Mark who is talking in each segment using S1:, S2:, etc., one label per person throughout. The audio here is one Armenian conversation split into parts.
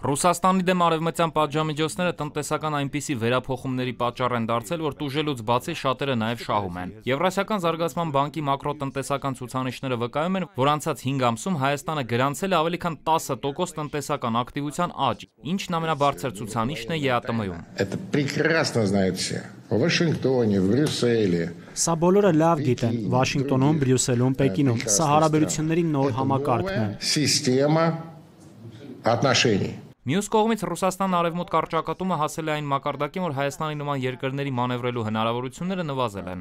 S1: Ռուսաստանի դեմ արևմտյան պատժամիջոցները տնտեսական այնպիսի վերափոխումների պատճառ են դարձել, որ տուժելուց բացի շատերը նաև շահում են։ Եվրասիական զարգացման բանկի մակրոտնտեսական ցուցանիշները վկայում են, որ անցած 5 ամսում Հայաստանը գրանցել է ավելի քան 10% տնտեսական ակտիվության աճ, ինչն ամենաբարձր ցուցանիշն է ԵԱՏՄ-ում։
S2: Սա բոլորը լավ գիտեն Վաշինգտոնում, Բրյուսելում, Պեկինում։ Սա հարաբերությունների նոր համակարգն
S1: է։ Մյուս կողմից Ռուսաստան արևմուտք կարճակատումը հասել է այն մակարդակին, որ Հայաստանի նման երկրների մանևրելու հնարավորությունները նվազել են։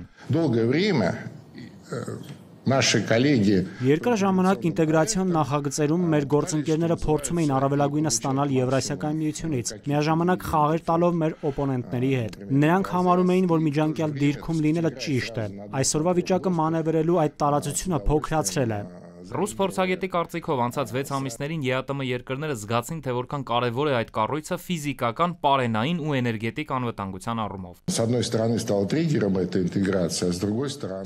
S2: Երկար ժամանակ ինտեգրացիոն նախագծերում մեր գործընկերները փորձում էին առավելագույնը ստանալ Եվրասիական միությունից, միաժամանակ խաղեր տալով մեր օպոնենտների հետ։ Նրանք համարում էին, որ միջանկյալ դիրքում լինելը ճիշտ է։ Այսօրվա վիճակը մանևրելու այդ տարածությունը փոքրացրել է։
S1: Ռուս փորձագետի կարծիքով անցած 6 ամիսներին ԵԱՏՄ երկրները զգացին, թե որքան կարևոր է այդ կառույցը ֆիզիկական, պարենային ու էներգետիկ անվտանգության առումով։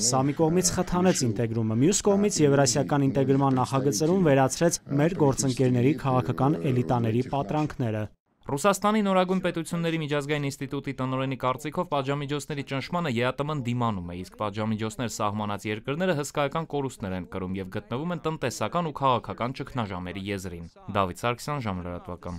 S2: Սա մի կողմից խթանեց ինտեգրումը, մյուս կողմից եվրասիական ինտեգրման նախագծերում վերացրեց մեր գործընկերների քաղաքական էլիտաների պատրանքները։
S1: Ռուսաստանի նորագույն պետությունների միջազգային ինստիտուտի տնօրենի կարծիքով պատժամիջոցների ճնշմանը ԵԱՏՄ-ն դիմանում է, իսկ պատժամիջոցներ սահմանած երկրները հսկայական կորուստներ են կրում եւ գտնվում են տնտեսական ու քաղաքական ճգնաժամերի եզրին։ Դավիթ Սարգսյան, Ժամանակ լրատվական։